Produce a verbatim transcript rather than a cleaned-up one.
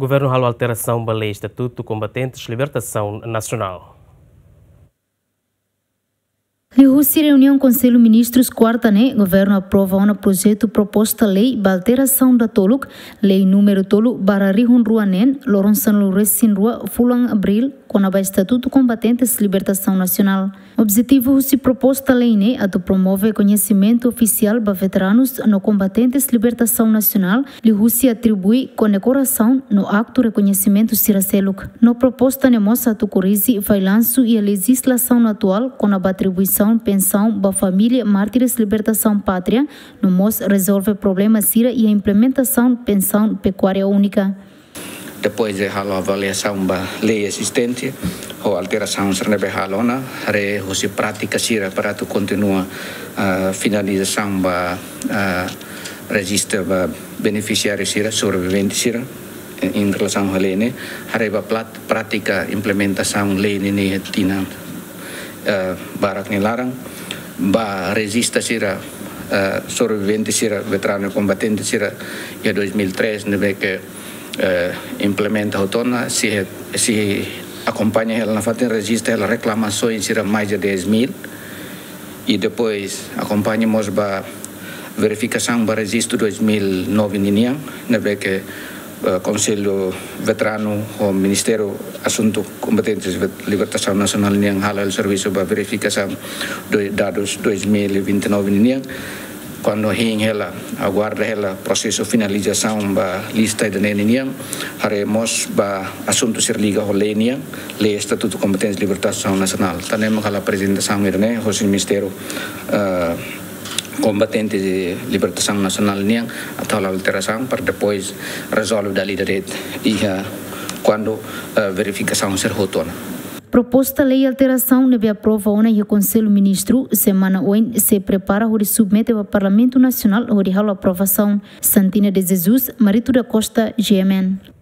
Governu halo alterasaun ba lei Estatutu Kombatentes Libertasaun Nasionál. Liuhusi reuniaun Konsellu Ministrus kuarta ne'e, governu aprova ona projetu proposta lei ba alterasaun datoluk, lei númeru tolu barra rihun rua neen, loron sanulu-resin-rua fulan Abríl, kona-ba Estatutu Kombatentes Libertasaun Nasionál. Objetivu husi proposta lei ne'e atu promove koñesimentu ofisiál ba veteranus no kombatentes libertasaun nasionál, liuhusi atribui kondekorasaun no aktu rekoñesimentu sira seluk. No proposta ne'e mós atu korrije fallansu iha lejizlasaun atuál kona-ba atribuisaun pensaun ba família mártires libertasaun pátria, no mós rezolve problema sira iha implementasaun pensaun pekuária únika. Depois de halo avaliasaun ba lei ezistente, ho alterasaun sira ne'ebé halo ona, haree husi prátika sira para atu kontinua, ah, finalizasaun ba, ah, rejista ba benefisiáriu sira, sobrevivente sira, em, em relasaun ho lei ne'e, haree ba plat-, prátika implementasaun lei ne'e iha tinan, eh, barak nia laran, ba rejista sira, eh, sobrevivente sira, veteranu kombatente sira, iha dois mil e três, ne'ebé ke, eh, implementa hotu ona, sei, sei akompaña hela nafatin rejista hela reklamasaun sira mais de dez mil, i depois akompaña mós ba verifikasaun ba rejistu dois mil e nove ninian, ne'ebé ke, eh, Konsellu Veteranu ho Ministériu Asuntu Kombatentes Vet-, Libertasaun Nasionál nian halo servisu ba verifikasaun do-, dadus dois mil e vinte e nove ninian. Kuandu hein hela, aguarda hela prosesu finalizasaun ba lista ida-ne'e ninian, haree mós ba asuntu sira liga ho lei nian, lei Estatutu Kombatentes Libertasaun Nasionál. Tan ne'e mak halo aprezentasaun ida-ne'e, hosi Ministériu, eh, Kombatentes Libertasaun Nasionál nian, atu halo alterasaun para depois rezolve dala ida de'it iha kuandu, eh, verifikasaun sira hotu ona. Proposta lei alterasaun ne'ebé aprova ona iha Konsellu Ministru semana oin sei prepara hodi submete ba Parlamentu Nasionál hodi halo aprovasaun. Santina de Jesus, Marito da Costa, G M N.